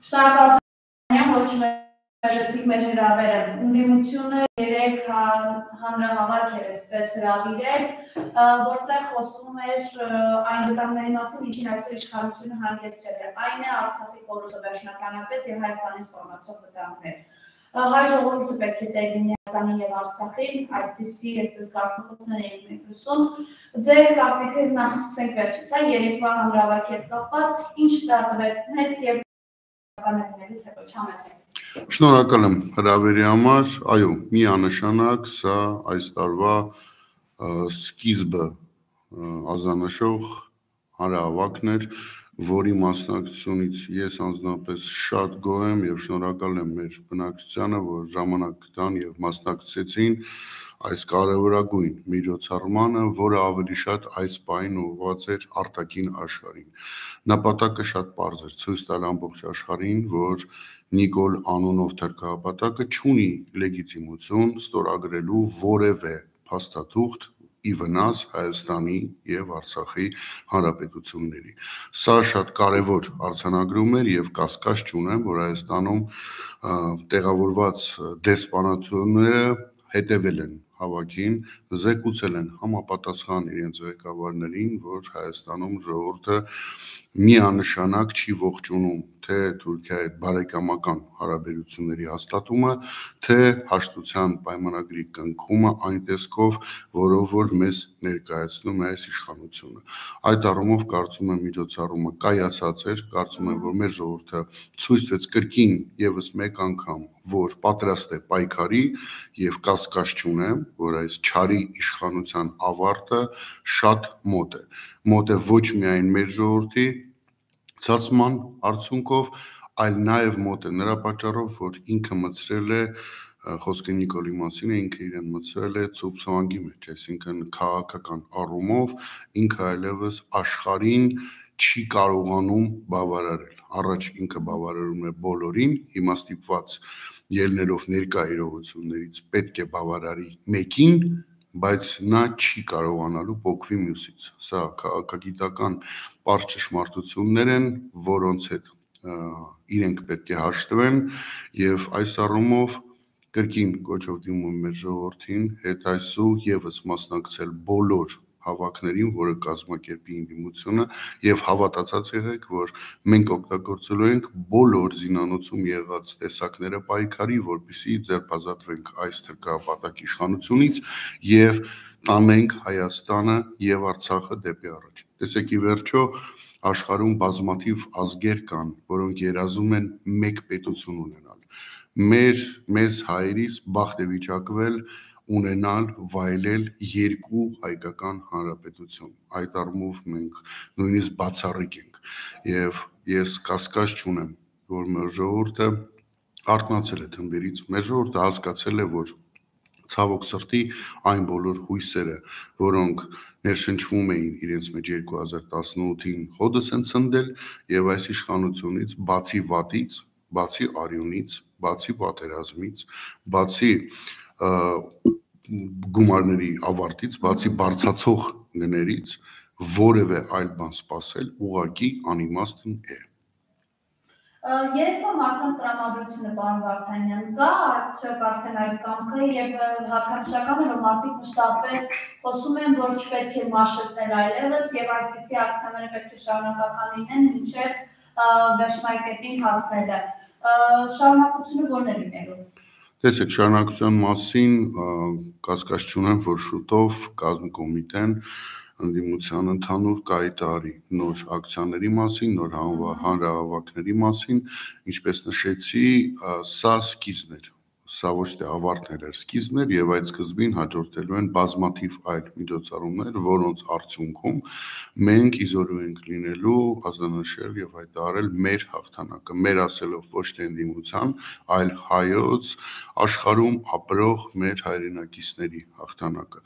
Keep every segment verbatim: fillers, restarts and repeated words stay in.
Շնորհակալություն, որ չմերժեցիք մեր հրավերը։ Ընդդիմությունը երեք հանրահավաք էր այսպես հրավիրել, որտեղ խոսվում էր այն վտանգների մասին, ինչին այսօր իշխանությունը հանգեցրել է։ Այն է Արցախի կորուստը վերջնականապես եւ Հայաստանի սպառնացող վտանգներ։ Հայ ժողովուրդը պետք է տեղ լինի Հայաստանին եւ Արցախին, այսպիսի այսպես կարգախոսներ էին մենք լսում։ Ձեր կարծիքը նախ սկսենք վերջից, հա, երեկվա հանրահավաքի հետ կապված, ինչ տվեց մեզ եւ կանոններից հետո չանացեք։ Շնորհակալ եմ հրավերի համար, այո, միանշանակ սա այս տարվա սկիզբը ազանշող հանրահավաքն էր, որի մասնակցությունից ես անձնապես շատ գոհ եմ եւ շնորհակալ եմ մեր բնակչությանը, որ ժամանակ տան եւ մասնակցեցին այս կարևորագույն միջոցառմանը, որը ավելի շատ այս պահին ուղղված էր արտաքին աշխարհին։ Նպատակը շատ պարզ էր՝ ցույց տալ ամբողջ աշխարհին, որ Նիկոլ անունով թերքահապատակը չունի լեգիտիմություն ստորագրելու որևէ փաստաթուղթ ի վնաս Հայաստանի եւ Արցախի հանրապետությունների։ Սա շատ կարևոր արձանագրում էր եւ կասկած չունեմ, որ Հայաստանում տեղավորված դեսպանատությունները հետևել են հավաքին, զեկուցել են համապատասխան իրենց ղեկավարներին, որ Հայաստանում ժողովուրդը միանշանակ չի ողջունում թե Թուրքիայի հետ բարեկամական հարաբերությունների հաստատումը, թե հաշտության պայմանագրի կնքումը այն տեսքով, որով որ մեզ ներկայացնում է այս իշխանությունը։ Այդ առումով կարծում եմ միջոցառումը կայացած էր, կարծում եմ, որ մեր ժողովուրդը ցույց տվեց կրկին եւս մեկ անգամ, որ պատրաստ է պայքարի եւ կասկած չունեմ, որ այս չարի իշխանության ավարտը շատ մոտ է։ Մոտ է ոչ միայն մեր ժողովրդի ցածման արդյունքով, այլ նաեւ մոտ է նրա պատճառով, որ ինքը մտցրել է խոսքը Նիկոլի մասին է, ինքը իրեն մտցրել է ցուրտ ցավանգի մեջ, այսինքն քաղաքական առումով ինքը այլևս աշխարհին չի կարողանում բավարարել։ Առաջ ինքը բավարարում է բոլորին, հիմա ստիպված ելնելով ներկա իրողություններից պետք է բավարարի մեկին, բայց նա չի կարողանալու փոխվի մյուսից։ Սա քաղաքագիտական պարզ ճշմարտություններ են, որոնց հետ իրենք պետք է հաշտվեն եւ այս առումով կրկին կոչով դիմում եմ մեր ժողովրդին հետայսու եւս մասնակցել բոլոր հավաքներին, որը կազմակերպի ընդդիմությունը եւ հավատացած եղեք, որ մենք օգտագործելու ենք բոլոր զինանոցում եղած տեսակները պայքարի, որպեսզի ձերբազատվենք այս թրքահապատակ իշխանությունից եւ տանենք Հայաստանը եւ Արցախը դեպի առաջ։ Տեսեք, ի վերջո աշխարհում բազմաթիվ ազգեր կան, որոնք երազում են մեկ պետություն ունենալ։ Մեր մեզ հայերիս բախտ է վիճակվել ունենալ, վայելել երկու հայկական հանրապետություն։ Այդ առումով մենք նույնիսկ բացառիկ ենք եւ ես կասկած չունեմ, որ մեր ժողովուրդը արթնացել է թմբերից, մեր ժողովուրդը հասկացել է, որ ցավոք սրտի այն բոլոր հույսերը, որոնք ներշնչվում էին իրենց մեջ երկու հազար տասնութին հոդս են ցնդել եւ այս իշխանությունից բացի վատից, բացի արյունից, բացի պատերազմից, բացի գումարների ավարտից, բացի բարձացող գներից որևէ այլ բան սпасել ուղղակի անիմաստն է։ Երեկվա մարդկանց տրամադրությունը, պարոն Վարդանյան, կա արդյոք արդեն այդ կամքը եւ հատկանշական է, որ մարդիկ մշտապես խոսում են, որ չպետք է մաշեցնել այլևս եւ այսպիսի ակցիաները պետք է շարունակական լինեն մինչեւ վերջնակետին հասնելը։ Շարունակությունը ո՞րն է լինելու։ Տեսեք, շարունակության մասին կասկած չունեմ, որ շուտով կազմկոմիտեն ընդդիմության ընդհանուր կայտարի նոր ակցիաների մասին, նոր հանրահավաքների մասին, ինչպես նշեցի, սա սկիզբն էր, սա ոչ թե ավարտն էր, սկիզբն էր եւ այդ սկզբին հաջորդելու են բազմաթիվ այլ միջոցառումներ, որոնց արդյունքում մենք իզորու ենք լինելու ազդանշել եւ հայտարարել մեր հաղթանակը, մեր ասելով ոչ թե ընդդիմության, այլ հայոց աշխարհում ապրող մեր հայրենակիցների հաղթանակը։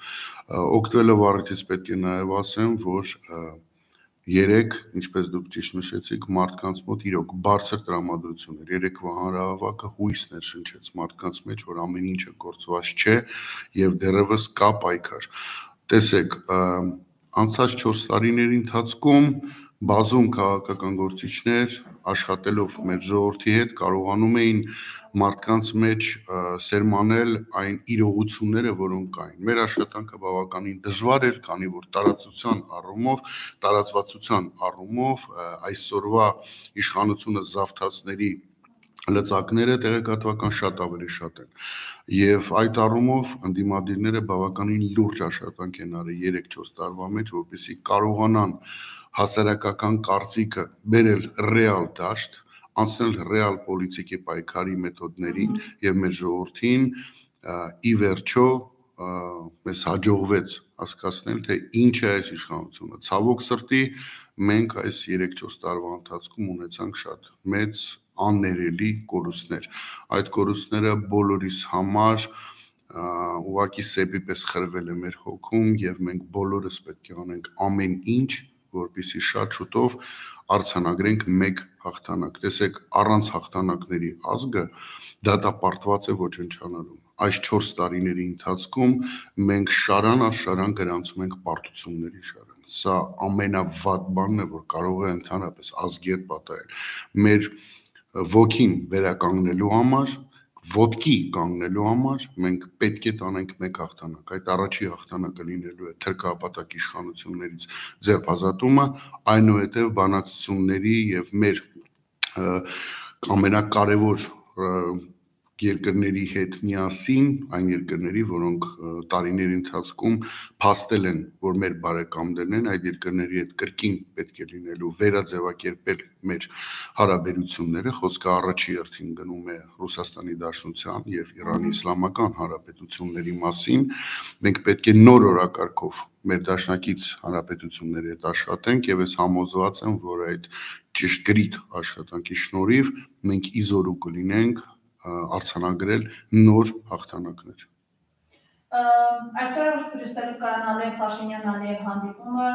Օգտվելով առիթից պետք է նաեւ ասեմ, որ երեք, ինչպես դուք ճիշտ նշեցիք, մարդկանց մոտ իրոք բարձր տրամադրություն էր։ Երեկվա հանրահավաքը հույսներ շնչեց մարդկանց մեջ, որ ամեն ինչը կորցված չէ եւ դեռևս կա պայքար։ Տեսեք, անցած չորս տարիների ընթացքում բազում քաղաքական գործիչներ աշխատելով մեր ժողովրդի հետ կարողանում էին մարդկանց մեջ սերմանել այն իրողությունները, որոնք կային։ Մեր աշխատանքը բավականին դժվար էր, քանի որ տարածության առումով, տարածվածության առումով այսօրվա իշխանությունը զավթածների լծակները տեղեկատվական շատ ավելի շատ են եւ այդ առումով ընդդիմադիրները բավականին լուրջ աշխատանք են արել երեք-չորս տարվա մեջ, որպեսզի կարողանան հասարակական կարծիքը բերել ռեալ դաշտ, անցնել ռեալ պոլիտիկի պայքարի մեթոդներին եւ մեր ժողովրդին ի վերջո մեզ հաջողվեց հասկացնել, թե ինչ է այս իշխանությունը։ Ցավոք սրտի մենք այս երեք-չորս տարվա ընթացքում ունեցանք շատ մեծ աններելի կորուստներ։ Այդ կորուստները բոլորիս համար ուղղակի սեպի պես խրվել է մեր հոգում եւ մենք բոլորս պետք է անենք ամեն ինչ, որպեսզի շատ շուտով արձանագրենք մեկ հաղթանակ։ Տեսեք, առանց հաղթանակների ազգը դատապարտված է ոչնչանալու։ Այս չորս տարիների ընթացքում մենք շարան առ շարան գրանցում ենք պարտությունների շարան։ Սա ամենավատ բանն է, որ կարող է ընդհանրապես ազգի հետ պատահել։ Մեր ոգին վերականգնելու համար, ոտքի կանգնելու համար մենք պետք է տանենք մեկ հաղթանակ։ Այդ առաջի հաղթանակը լինելու է թրքահապատակ իշխանություններից ձերբազատումը, այնուհետև բանակցությունների եւ մեր ամենակարևոր երկրների հետ միասին, այն երկրների, որոնք տարիների ընթացքում փաստել են, որ մեր բարեկամներն են, այդ երկրների հետ կրկին պետք է լինելու վերաձևակերպել մեր հարաբերությունները, խոսքը առաջի հերթին գնում է Ռուսաստանի Դաշնության եւ Իրանի Իսլամական Հանրապետությունների մասին, մենք պետք է նոր օրակարգով մեր դաշնակից հանրապետությունների հետ աշխատենք եւ ես համոզված եմ, որ այդ ճշգրիտ աշխատանքի շնորհիվ մենք իզորու կլինենք արձանագրել նոր հաղթանակներ։ Այսօր Բրյուսելում կայանալու է Փաշինյան-Ալիև հանդիպումը,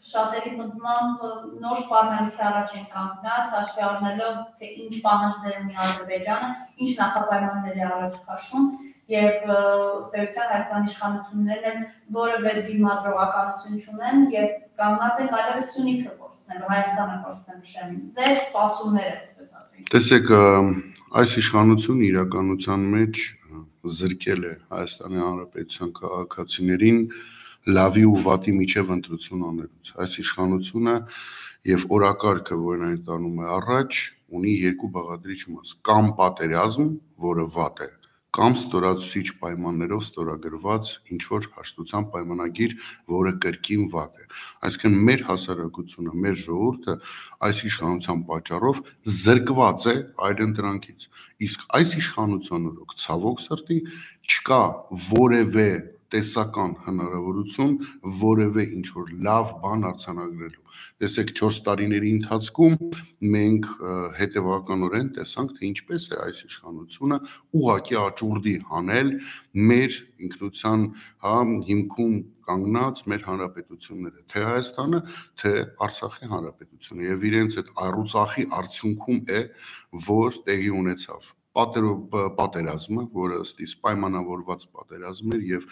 շատերի մտմամբ նոր սպառնալիքի առաջ են կանգնած, հաշվի առնելով, թե ինչ պահանջներ ունի Ադրբեջանը, ինչ նախապայմաններ է առաջ քաշում եւ ըստ էության Հայաստանի իշխանություններն են որևէ դիմադրողականություն չունեն եւ կանգնած են այլևս Սյունիքը կորցնելու, Հայաստանը կորցնելու շեմին։ Ձեր սպասումները, այսպես ասենք։ Տեսեք, այս իշխանությունը իրականության մեջ զրկել է Հայաստանի Հանրապետության քաղաքացիներին լավի ու վատի միջև ընտրություն անելուց։ Այս իշխանությունը եւ օրակարգը, որն այն տանում է առաջ, ունի երկու բաղադրիչ մաս՝ կամ պատերազմ, որը վատ է, կամ ստորացուցիչ պայմաններով ստորագրված ինչ-որ հաշտության պայմանագիր, որը կրկին վատ է։ Այսինքն մեր հասարակությունը, մեր ժողովուրդը այս իշխանության պատճառով զրկված է այլընտրանքից։ Իսկ այս իշխանության օրոք ցավոք սրտի չկա որևէ տեսական հնարավորություն որևէ ինչ-որ լավ բան արձանագրելու։ Տեսեք, չորս տարիների ընթացքում մենք հետևականորեն տեսանք, թե ինչպես է այս իշխանությունը ուղղակի աճուրդի հանել մեր ինքնության հիմքում կանգնած մեր հանրապետությունները, թե Հայաստանը, թե Արցախի հանրապետությունը, եւ իրենց այդ առուցախի արդյունքում է, որ տեղի ունեցավ պատերազմը, որը ըստիս պայմանավորված պատերազմ էր եւ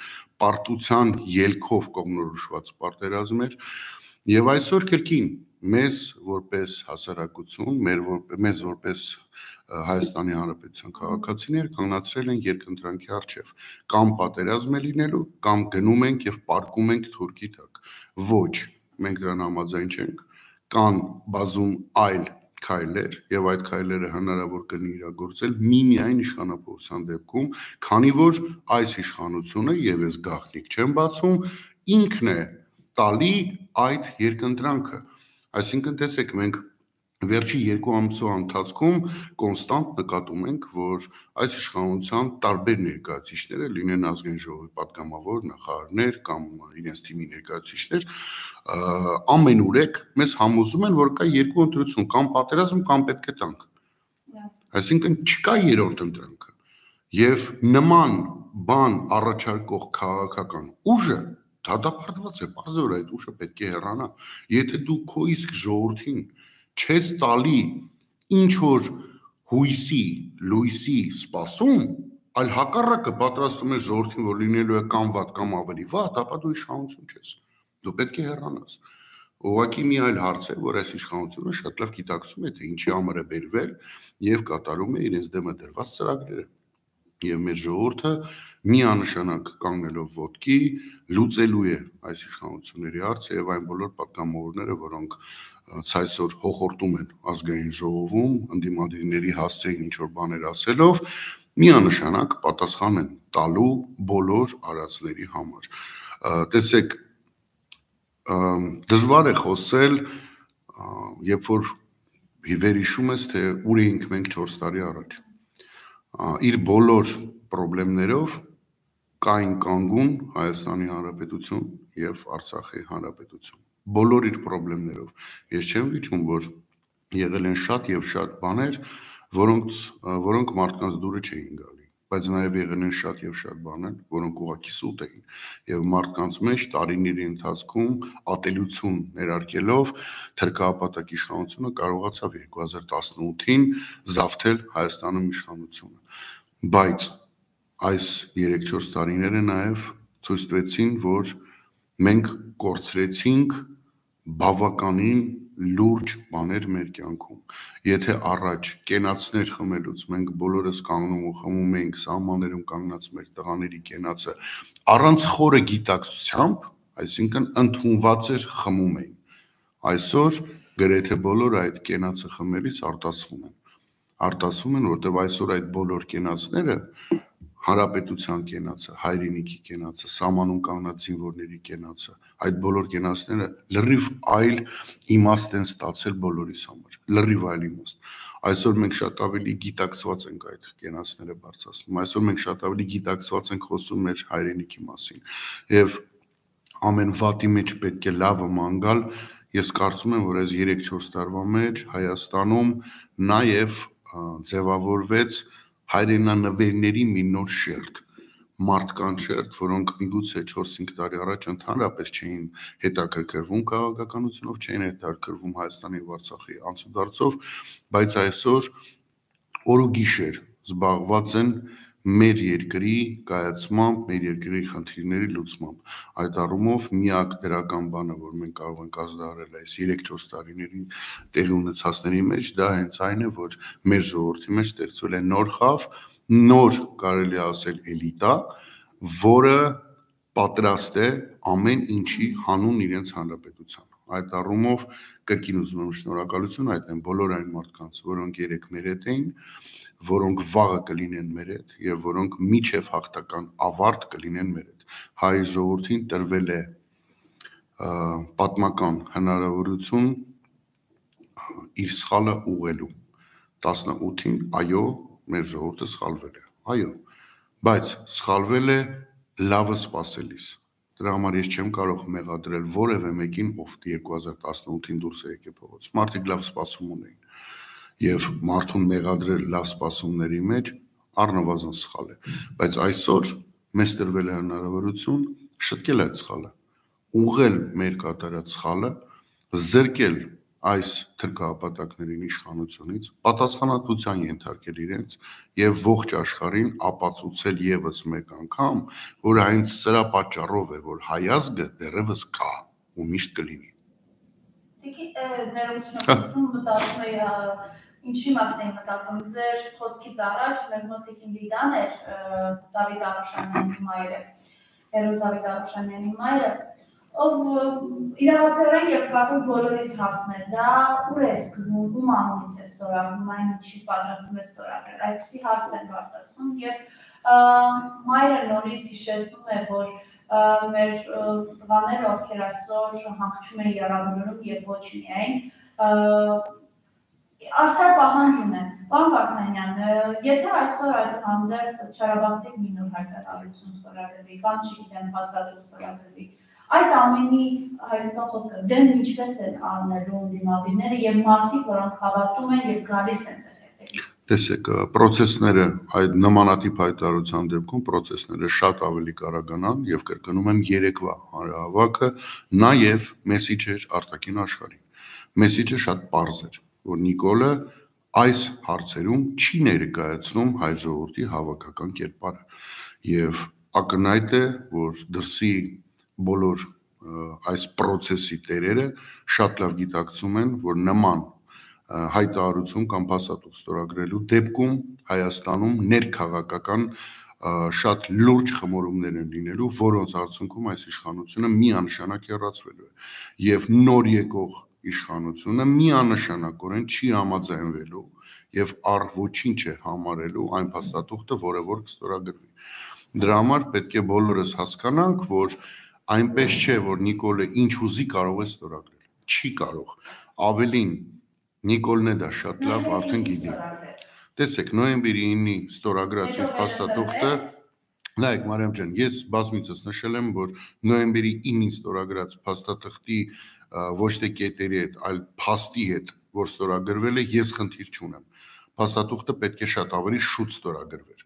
պարտության ելքով կողմնորոշված պատերազմ էր, եւ այսօր կրկին մեզ որպես հասարակություն, մեր մեզ որպես Հայաստանի Հանրապետության քաղաքացիներ կանգնացրել են երկընտրանքի առջև, կամ պատերազմ է լինելու, կամ գնում ենք եւ պարկում ենք թուրքի տակ։ Ոչ, մենք դրան համաձայն չենք, կան բազում այլ քայլեր եւ այդ քայլերը հնարավոր կլինի իրագործել միմիայն իշխանապողության դեպքում, քանի որ այս իշխանությունը, եւ ես գաղտնիք չեմ բացում, ինքն է տալի այդ երկընտրանքը։ Այսինքն տեսեք, մենք վերջի երկու ամսվա ընթացքում կոնստանտ նկատում ենք, որ այս իշխանության տարբեր ներկայացուցիչները, լինեն ազգային ժողովի պատգամավոր, նախարարներ կամ իրենց թիմի ներկայացուցիչներ, ամենուրեք մեզ համոզում են, որ կա երկու ընտրություն, կամ պատերազմ, կամ պետք է տանք։ Այսինքն չկա երրորդ ընտրանքը։ Եվ նման բան առաջարկող քաղաքական ուժը դատապարտված է, բարձր այդ ուժը պետք է հեռանա։ Եթե դու քո իսկ ժողովրդին չես տալի ինչ որ հույսի, լույսի սպասում, այլ հակառակը պատրաստում ես ժողովրդին, որ լինելու է կամ վատ, կամ ավելի վատ, ապա դու իշխանություն չես։ Դու պետք է հեռանաս։ Ուղղակի մի այլ հարց է, որ այս իշխանությունը շատ լավ գիտակցում է, թե ինչի համար է բերվել եւ կատարում է իրենց դեմը դրված ծրագրերը։ Եվ մեր ժողովուրդը միանշանակ կանգնելով ոտքի լուծելու է այս իշխանությունների հարցը եւ այն բոլոր պատգամավորները, որոնք ցայսօր հոխորտում են ազգային ժողովում, ընդդիմադիրների հասցեին ինչ որ բաներ ասելով, միանշանակ պատասխան են տալու բոլոր արածների համար։ Տեսեք, դժվար է խոսել, երբ որ վերհիշում ես, թե ուր էինք մենք չորս տարի առաջ։ Իր բոլոր խնդիրներով կային կանգուն Հայաստանի Հանրապետություն եւ Արցախի Հանրապետություն։ Բոլոր իր խնդիրներով։ Ես չեմ վիճում, որ եղել են շատ եւ շատ բաներ, որոնց որոնք մարդկանց դուրը չէին գալի, բայց նաեւ եղել են շատ եւ շատ բաներ, որոնք ուղղակի սուտ էին եւ մարդկանց մեջ տարիների ընթացքում ատելություն ներարկելով թրքահապատակ իշխանությունը կարողացավ երկու հազար տասնութին զավթել Հայաստանում իշխանությունը։ Բայց այս երեք-չորս տարիները նաեւ ցույց տվեցին, որ մենք կորցրեցինք բավականին լուրջ բաներ մեր կյանքում։ Եթե առաջ կենացներ խմելուց մենք բոլորս կանգնում ու խմում էինք սահմաններում կանգնած մեր տղաների կենացը առանց խորը գիտակցությամբ, այսինքն ընդունված էր խմում էին։ Այսօր գրեթե բոլորը այդ կենացը խմելիս արտասվում են։ Արտասվում են, որտեղ այսօր այդ բոլոր կենացները հանրապետության կենացը, հայրենիքի կենացը, սահմանում կանգնած զինվորների կենացը, այդ բոլոր կենացները լրիվ այլ իմաստ են ստացել բոլորիս համար, լրիվ այլ իմաստ։ Այսօր մենք շատ ավելի գիտակցված ենք այդ կենացները բարձրացնում, այսօր մենք շատ ավելի գիտակցված ենք խոսում մեր հայրենիքի մասին եւ ամեն վատի մեջ պետք է լավը ման գալ։ Ես կարծում եմ, որ այս երեք-չորս տարվա մեջ Հայաստանում նաեւ ձևավորվեց հայրենանվերների մի նոր շերտ, մարդկանց շերտ, որոնք միգուցե չորս-հինգ տարի առաջ ընդհանրապես չէին հետաքրքրվում քաղաքականությունով, չէին հետաքրքրվում Հայաստանի եւ Արցախի անցուդարձով, բայց այսօր օր ու գիշեր զբաղված են մեր երկրի կայացմամբ, մեր երկրի խնդիրների լուծմամբ։ Այդ առումով միակ դրական բանը, որ մենք կարող ենք ազդարել այս երեք-չորս տարիների տեղի ունեցածների մեջ, դա հենց այն է, որ մեր ժողովրդի մեջ ստեղծվել է նոր խավ, նոր կարելի ասել էլիտա, որը պատրաստ է ամեն ինչի հանուն իրենց հանրապետության։ Այդ առումով կրկին ուզում եմ շնորհակալություն հայտնել բոլոր այն մարդկանց, որոնք երեք մեր հետ էին, որոնք վաղը կլինեն մեր հետ եւ որոնք միջև հաղթական ավարտ կլինեն մեր հետ։ Հայ ժողովրդին տրվել է պատմական հնարավորություն իր սխալը ուղղելու։ տասնութին, այո, մեր ժողովուրդը սխալվել է, այո, բայց սխալվել է լավը սպասելիս։ Դրա համար ես չեմ կարող մեղադրել որևէ մեկին, ով երկու հազար տասնութին դուրս է եկել փողոց։ Մարդիկ լավ սպասում ունեին եւ մարդուն մեղադրել լավ սպասումների մեջ առնվազն սխալ է, բայց այսօր մեզ տրվել է հնարավորություն շտկել այդ սխալը, ուղղել մեր կատարած սխալը, զրկել այս թրքահապատակներին իշխանությունից, պատասխանատվության ենթարկել իրենց եւ ողջ աշխարհին ապացուցել եւս մեկ անգամ, որ հենց սրա պատճառով է, որ հայազգը դեռևս կա ու միշտ կլինի։ Դիքի ներողություն մտածում էի, ինչի մասին էի մտածում, ձեր խոսքից առաջ մեզ մոտ Տիկին Լիդան էր, Դավիթ Արուշանյանի մայրը, Հերոս Դավիթ Արուշանյանի մայրը, ով իրավացիորեն եւ կարծես բոլորիս հարցն է, դա ուր է գնում, ում անունից է ստորագրում, այն ինչի պատրաստում է ստորագրել, այսպիսի հարց են բարձրացնում եւ մայրը նորից հիշեցնում է, որ մեր տղաները, ովքեր այսօր հանգչում են եռաբանորում եւ ոչ միայն, արդար պահանջ ունեն։ Պարոն Վարդանյան, եթե այսօր այդուհանդերձ չարաբաստիկ մի նոր հայտարարություն ստորագրվի, կամ չգիտեմ, հաստատություն ստորագրվի, այդ ամենի հայտնական խոսքը դեմ ինչպես են առնելու ընդդիմադիրները եւ մարդիկ, որոնք հավատում են եւ գալիս են ձեր հետևից։ Տեսեք, պրոցեսները այդ նմանատիպ հայտարարության դեպքում պրոցեսները շատ ավելի կարագանան եւ կրկնում եմ երեկվա հանրահավաքը նաեւ մեսիջ էր արտաքին աշխարհին։ Մեսիջը շատ պարզ էր, որ Նիկոլը այս հարցերում չի ներկայացնում հայ ժողովրդի հավաքական կերպարը եւ ակնհայտ է, որ դրսի բոլոր այս process-ի տերերը շատ լավ գիտակցում են, որ նման հայտարարություն կամ փաստաթուղթ ստորագրելու դեպքում Հայաստանում ներքաղաքական շատ լուրջ խմորումներ են լինելու, որոնց արդյունքում այս իշխանությունը միանշանակ հեռացվելու է եւ նոր եկող իշխանությունը միանշանակորեն չի համաձայնվելու եւ առ ոչինչ է համարելու այն փաստաթուղթը, որը որ կստորագրվի։ Դրա համար պետք է բոլորս հասկանանք, որ այնպես չէ, որ Նիկոլը ինչ ուզի կարող է ստորագրել։ Չի կարող։ Ավելին, Նիկոլն է դա շատ լավ արդեն գիտի։ Տեսեք, նոյեմբերի ինի ստորագրած իր փաստաթուղթը, նայեք Մարիամ ջան, ես բազմիցս նշել եմ, որ նոյեմբերի ինին ստորագրած փաստաթղթի ոչ թե կետերի հետ, այլ փաստի հետ, որ ստորագրվել է, ես խնդիր չունեմ։ Փաստաթուղթը պետք է շատ ավելի շուտ ստորագրվեր։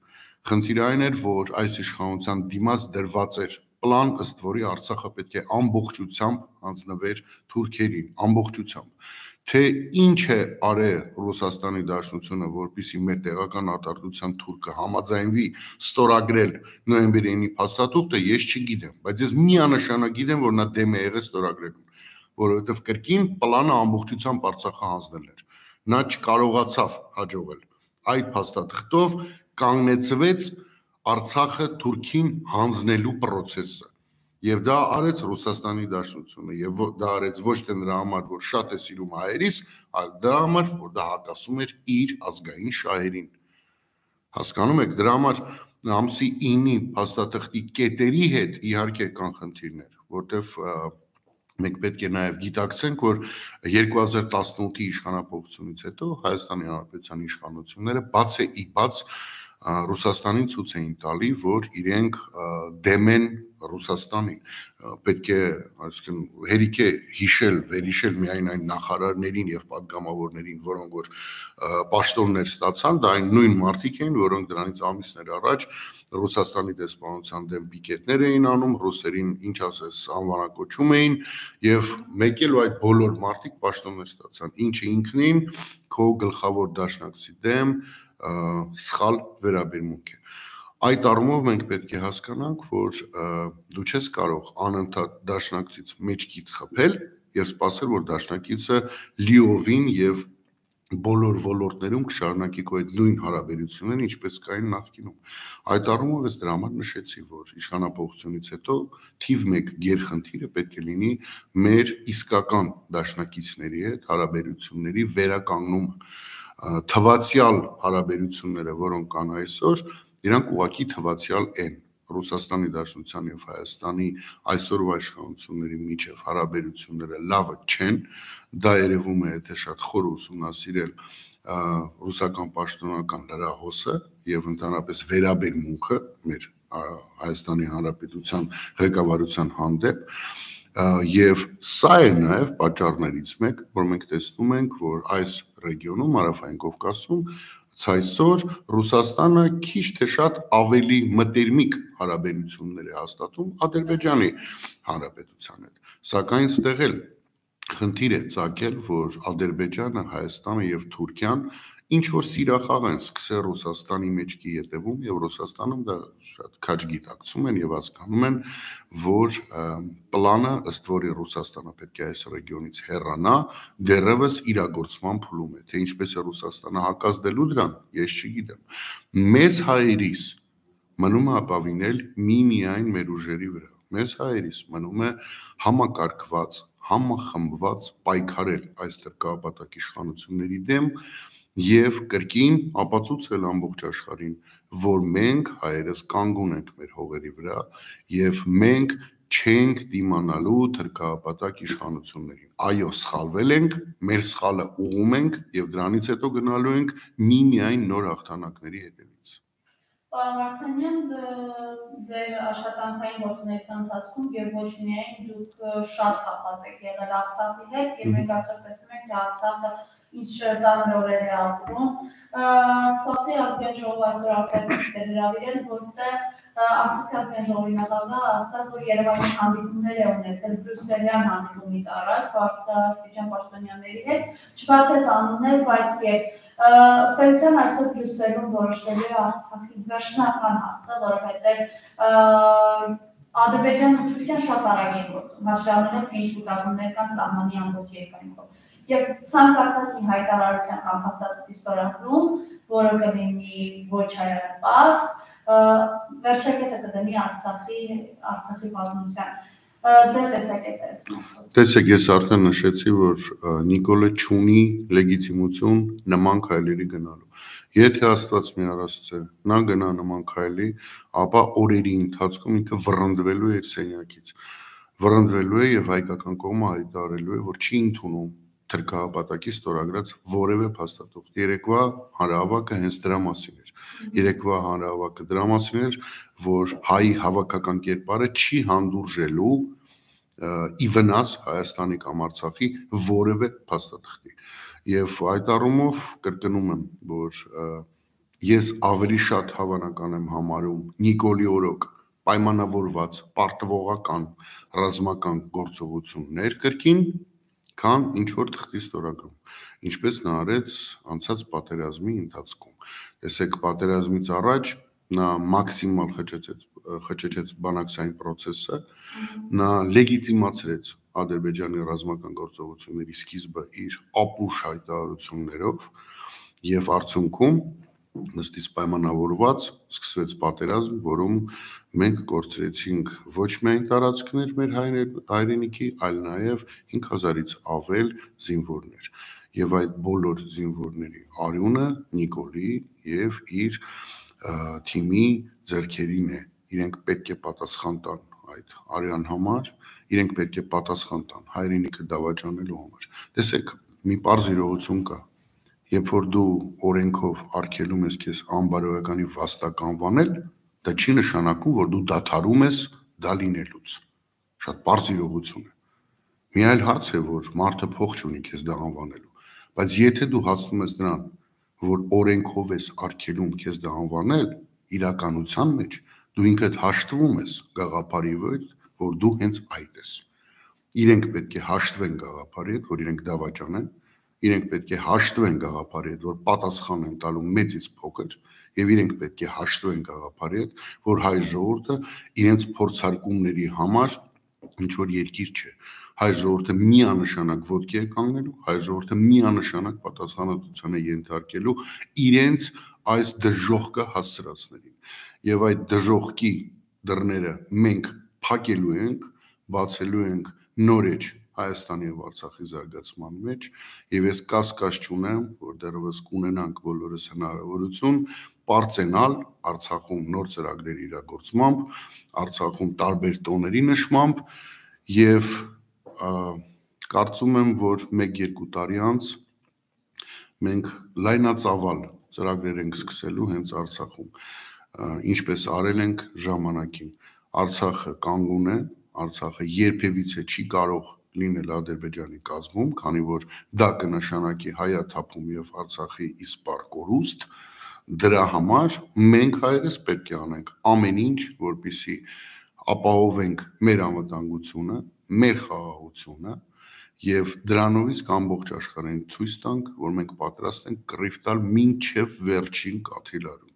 Խնդիրը այն էր, որ այս իշխանության դիմաց դրված էր պլան, ըստ որի Արցախը պետք է ամբողջությամբ հանձնվեր թուրքերին, ամբողջությամբ։ Թե ինչ է արել Ռուսաստանի Դաշնությունը, որպեսզի մեր տեղական արտադրության թուրքը համաձայնվի ստորագրել նոյեմբերի ինի փաստաթուղթը, ես չգիտեմ, բայց ես միանշանակ գիտեմ, որ նա դեմ է եղել ստորագրելուն, որովհետև կրկին պլանը ամբողջությամբ Արցախը հանձնել էր։ Նա չկարողացավ հաջողել։ Այդ փաստաթղթով կանգնեցվեց Արցախը թուրքին հանձնելու process-ը։ Եվ դա արեց Ռուսաստանի Դաշնությունը, եւ դա արեց ոչ թե նրա համար, որ շատ է սիրում հայերիս, այլ դրա համար, որ դա հակասում էր իր ազգային շահերին։ Հասկանում եք, դրա համար ամսի ինի փաստաթղթի կետերի հետ իհարկե կան խնդիրներ, որտեվ մենք պետք է նաև գիտակցենք, որ երկու հազար տասնութի իշխանապողությունից հետո Հայաստանի Հանրապետության իշխանությունները բաց է ի բաց Ռուսաստանին ցույց էին տալի, որ իրենք դեմ են Ռուսաստանին։ Պետք է, այսինքն, հերիք է հիշել, վերհիշել միայն այն նախարարներին եւ պատգամավորներին, որոնք որ պաշտոններ ստացան, դա այն նույն մարդիկ էին, որոնք դրանից ամիսներ առաջ Ռուսաստանի դեսպանության դեմ պիկետներ էին անում, ռուսերին ինչ ասես անվանակոչում էին եւ մեկ էլ այդ բոլոր մարդիկ պաշտոններ ստացան, ինչը ինքնին քո գլխավոր դաշնակցի դեմ սխալ վերաբերմունք է։ Այդ առումով մենք պետք է հասկանանք, որ դու չես կարող անընդհատ դաշնակցից մեջքից խփել եւ սպասել, որ դաշնակիցը լիովին եւ բոլոր ոլորտներում կշարունակի քո այդ նույն հարաբերությունները, ինչպես կային նախկինում։ Այդ առումով ես դրա համար նշեցի, որ իշխանապողությունից հետո թիվ մեկ գերխնդիրը պետք է լինի մեր իսկական դաշնակիցների հետ հարաբերությունների վերականգնումը։ Թվացial հարաբերությունները, որոնք կան այսօր, իրանք ուղղակի թվացial են։ Ռուսաստանի Դաշնության եւ Հայաստանի այսօրվա իշխանությունների միջև հարաբերությունները լավը չեն, դա երևում է, եթե շատ խոր ուսումնասիրել ռուսական պաշտոնական լրահոսը եւ ընդհանրապես վերաբերմունքը մեր Հայաստանի Հանրապետության ղեկավարության հանդեպ, եւ սա է նաեւ պատճառներից մեկ, որ մենք տեսնում ենք, որ այս ռեգիոնում, Հարավային Կովկասում այսօր Ռուսաստանը քիչ թե շատ ավելի մտերմիկ հարաբերություններ է հաստատում Ադրբեջանի Հանրապետության հետ։ Սակայն ստեղ էլ խնդիր է ծագել, որ Ադրբեջանը, Հայաստանը եւ Թուրքիան ինչ որ սիրախաղ են սկսել Ռուսաստանի մեջքի ետևում եւ Ռուսաստանում դա շատ քաջ գիտակցում են եւ հասկանում են, որ պլանը, ըստ որի Ռուսաստանը պետք է այս ռեգիոնից հեռանա, դեռևս իրագործման փուլում է, թե ինչպես է Ռուսաստանը հակազդելու դրան, ես չգիտեմ։ Մեզ հայերիս մնում է ապավինել միմիայն մեր ուժերի վրա։ Մեզ հայերիս մնում է համակարգված, համախմբված պայքարել այս դրկապատակ իշխանությունների դեմ եւ կրկին ապացուցել ամբողջ աշխարհին, որ մենք հայերս կանգուն ենք մեր հողերի վրա եւ մենք չենք դիմանալու թրքապատակ իշխանություններին։ Այո, սխալվել ենք, մեր սխալը ուղում ենք եւ դրանից հետո գնալու ենք միմիայն նոր հաղթանակների հետևից։ Պարոն Վարդանյան, ձեր աշխատանքային գործունեության ընթացքում եւ ոչ միայն դուք շատ կապված եք եղել Արցախի հետ եւ մենք այսօր տեսնում ենք, թե Արցախը ինչ ծանր օրեր է ապրում։ Արցախի ազգային ժողովը այսօր արտահայտություններ է հրավիրել, որտեղ Արցախի ազգային ժողովի նախագահը ասաց, որ Երևանի հանդիպումներ է ունեցել բրյուսելյան հանդիպումից առաջ բարձրաստիճան պաշտոնյաների հետ, չբացեց անուններ, բայց եւ ըստ էության այսօր Բրյուսելում որոշվելու է Արցախի վերջնական հարցը, որովհետեւ Ադրբեջանն ու Թուրքիան շատ արագ են գործում, հաշվառելով թե ինչ կուտակումներ կան սահմանի ամբողջ երկայնքով։ Եվ ցանկացած մի հայտարարության կամ հաստատվի ստորագրում, որը կլինի ոչ հայապաստ, վերջակետը կդնի Արցախի Արցախի պատմության։ Ձեր տեսակետը է ասում։ Տեսեք, ես արդեն նշեցի, որ Նիկոլը չունի լեգիտիմություն նման քայլերի գնալու։ Եթե Աստված մի առասցե նա գնա նման քայլի, ապա օրերի ընթացքում ինքը վռնդվելու է իր սենյակից։ Վռնդվելու է եւ հայկական կողմը հայտարարելու է, որ չի ընդունում թրքահապատակի ստորագրած որևէ փաստաթուղթ։ Երեկվա հանրահավաքը հենց դրա մասին էր։ Երեկվա հանրահավաքը դրա մասին էր, որ հայի հավաքական կերպարը չի հանդուրժելու ի վնաս Հայաստանի կամ Արցախի որևէ փաստաթղթի։ Եվ այդ առումով կրկնում եմ, որ ես ավելի շատ հավանական եմ համարում Նիկոլի օրոք պայմանավորված պարտվողական ռազմական գործողություններ կրկին, քան ինչ որ թղթի ստորագրում, ինչպես նա արեց անցած պատերազմի ընթացքում։ Տեսեք, պատերազմից առաջ նա մաքսիմալ խճճեց խճճեց բանակցային process-ը, նա լեգիտիմացրեց Ադրբեջանի ռազմական գործողությունների սկիզբը իր ապուշ հայտարարություններով եւ արդյունքում նստից պայմանավորված սկսվեց պատերազմ, որում մենք կորցրեցինք ոչ միայն տարածքներ մեր հայրենիքի, այլ նաեւ հինգ հազարից ավել զինվորներ։ Եվ այդ բոլոր զինվորների արյունը Նիկոլի եւ իր թիմի ձեռքերին է։ Իրենք պետք է պատասխան տան այդ արյան համար, իրենք պետք է պատասխան տան հայրենիքը դավաճանելու համար։ Տեսեք, մի պարզ իրողություն կա։ Երբ որ դու օրենքով արգելում ես քեզ անբարոյականի վաստակ անվանել, դա չի նշանակում, որ դու դադարում ես դա լինելուց։ Շատ պարզ իրողություն է։ Մի այլ հարց է, որ մարդը փող չունի քեզ դա անվանելու, բայց եթե դու հասնում ես նրան, որ օրենքով ես արգելում քեզ դա անվանել, իրականության մեջ դու ինքդ հաշտվում ես գաղափարի հետ, որ դու հենց այդ ես։ Իրենք պետք է հաշտվեն գաղափարի հետ, որ իրենք դավաճանեն, իրենք պետք է հաշտվեն գաղափարի հետ, որ պատասխան են տալու մեծից փոքր, եւ իրենք պետք է հաշտվեն գաղափարի հետ, որ հայ ժողովուրդը իրենց փորձարկումների համար ինչ որ երկիր չէ։ Հայ ժողովուրդը միանշանակ ոտքի է կանգնելու, հայ ժողովուրդը միանշանակ պատասխանատվության է ենթարկելու իրենց այս դժոխքը հասցրածներին։ Եվ այդ դժոխքի դռները մենք փակելու ենք, բացելու ենք նորեջ Հայաստանի եւ Արցախի զարգացման մեջ, եւ ես կասկած չունեմ, որ դեռևս կունենանք բոլորս հնարավորություն պարծենալ Արցախում նոր ծրագրերի իրագործմամբ, Արցախում տարբեր տոների նշմամբ եւ կարծում եմ, որ մեկ-երկու տարի անց մենք լայնածավալ ծրագրեր ենք սկսելու հենց Արցախում, ինչպես արել ենք ժամանակին։ Արցախը կանգուն է, Արցախը երբևիցե չի կարող լինել Ադրբեջանի կազմում, քանի որ դա կնշանակի հայաթափում եւ Արցախի իսպառ կորուստ։ Դրա համար մենք հայերս պետք է անենք ամեն ինչ, որպեսզի ապահովենք մեր անվտանգությունը, մեր խաղաղությունը եւ դրանով իսկ ամբողջ աշխարհին ցույց տանք, որ մենք պատրաստ ենք կռիվ տալ մինչեւ վերջին կաթիլարուն։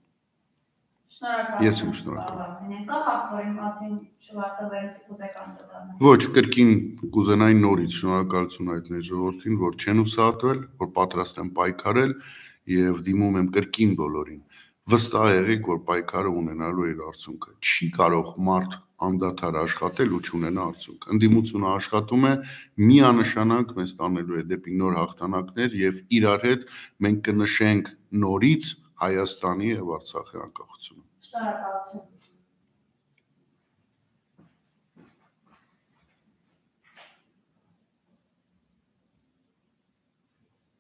Ես եմ շնորհակալ։ Կա հարց, որի մասին շվարցազերից կուզեք անդրադառնալ։ Ոչ, կրկին կուզենայի նորից շնորհակալություն հայտնել ժողովրդին, որ չեն ուսահատվել, որ պատրաստ են պայքարել եւ դիմում եմ կրկին բոլորին։ Վստահ եղեք, որ պայքարը ունենալու է իր արդյունքը։ Չի կարող մարդ անդադար աշխատել ու չունենա արդյունք։ Ընդդիմությունը աշխատում է, միանշանակ մեզ տանելու է դեպի նոր հաղթանակներ եւ իրար հետ մենք կնշենք նորից Հայաստանի եւ Արցախի անկախությունը։ Շնորհակալություն։